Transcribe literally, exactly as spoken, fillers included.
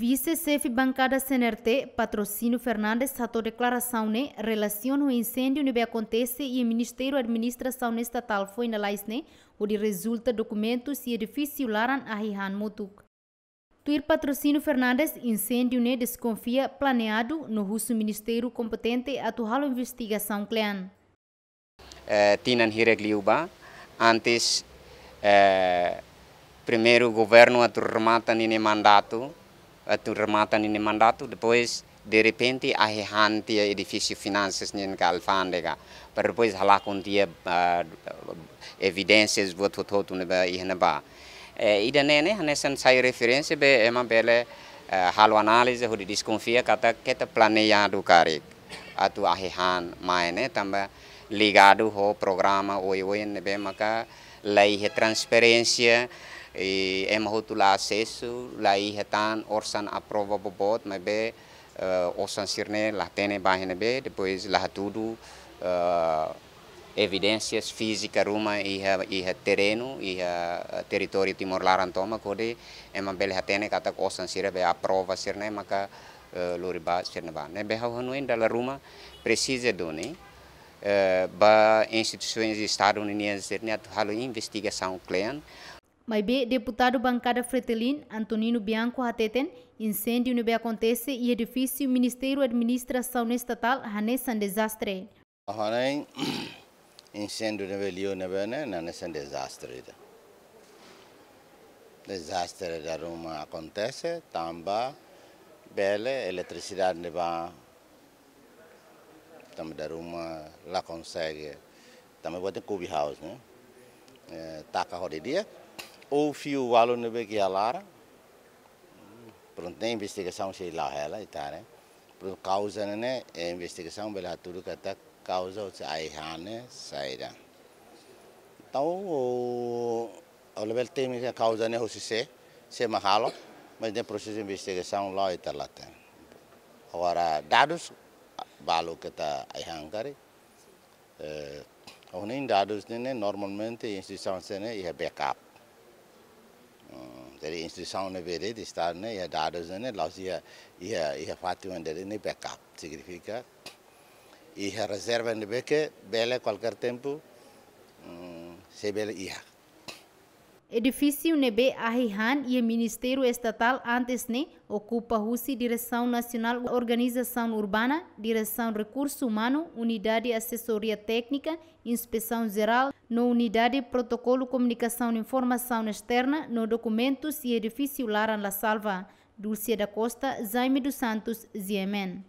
Vise-Xefe Bankada C N R T, Patrocínio Fernandes, hato'o deklarasaun ne'e relasiona ho inséndiu ne'ebé akontese iha Ministériu Administrasaun Estatál foin lalais ne'e, hodi rezulta dokumentus i edifísiu laran ahi han motuk. Tuir Patrocínio Fernandes, inséndiu ne'e deskonfia planeadu no husu ministériu kompetente atu halo investigasaun kle'an. Eh, tinan hirak liubá, antes, eh, primeiru governu atu remata ninia mandatu, atu remata ninia mandatu, depois, derrepente, ahi han tiha edifísiu finansas nian ka alfándega, para depois halakon tiha, ah, evidénsias buat hotu-hotu ne'ebé iha ne'ebá. Eh, ida-ne'e ne'e hanesan sai referénsia be ema bele, eh, halo análize hodi deskonfia katak keta planeadu karik atu ahi han mai ne'e, tanba ligadu ho programa oioin ne'ebé maka la iha transparénsia, i ema hotu la asesu, la iha tan osan aprova boboot, maibé, eh, osan sira-ne'e la hatene ba iha ne'ebé, depois la hatudu, eh, evidénsias fízika ruma iha, iha terrenu, iha, eh, territóriu Timor laran tomak, hodi ema bele hatene katak osan sira be aprova sira-ne'e maka, eh, lori ba sira-ne'ebá. Ne'ebé ha'u hanoin dala ruma presiza duni, eh, ba instituisoens Estadu ninian sira-ne'e atu halo investigasaun kle'an. Maibé Deputadu Bankada Fretilin, Antonino Bianco hateten, inséndiu ne'ebé akontese iha edifísiu Ministériu Administrasaun Estatál hanesan dezastre. Ha'u hanoin inséndiu ne'ebé liu ne'ebé ne'e, ne'e hanesan dezastre ida. Dezastre dala ruma akontese, tanba bele eletrisidade ne'ebá tanba dala ruma la konsege. Tanba buat ne'e cubby house, ne'e? Eh, taka hodi di'ak. Ou fiu balu ne'ebé ke iha laran. Prontu, ne'e investigasaun sei la'o hela, ita haree. Prontu, kauza ne'e, ne'e, eh, investigasaun bele hatudu katak kauza husi ahi han ne'e saida. Entaun, o, o level tékniku kauza ne'e husi sé, sé mak halo, mas ne'e prosesu investigasaun la'o ita la hatene. Agora, dadus balu keta ahi han karik. Eh, ha'u hanoin dadus ne'e, ne'e normalmente instituisaun sira-ne'e iha backup. Hmm, jadi instituisaun ne'ebé de'it Estadu ne'e iha dadus ne'e, ne'e la'ós iha, iha, iha fatin ida de'it ne'e backup. Signifika iha rezerva ne'ebé ke bele kualkér tempu, hmm, sei bele iha. Edifísiu ne'ebé ahi han iha Ministériu Estatál antes ne'e okupa husi Diresaun Nasionál Organizasaun Urbana, Diresaun Rekursu Umanu, Unidade Asesoria Téknika, Inspesaun Jerál, no Unidade Protokolu Komunikasaun Informasaun Esterna no Dokumentus i edifísiu laran la salva. Dulcia da Costa, Jaime dos Santos, G M N.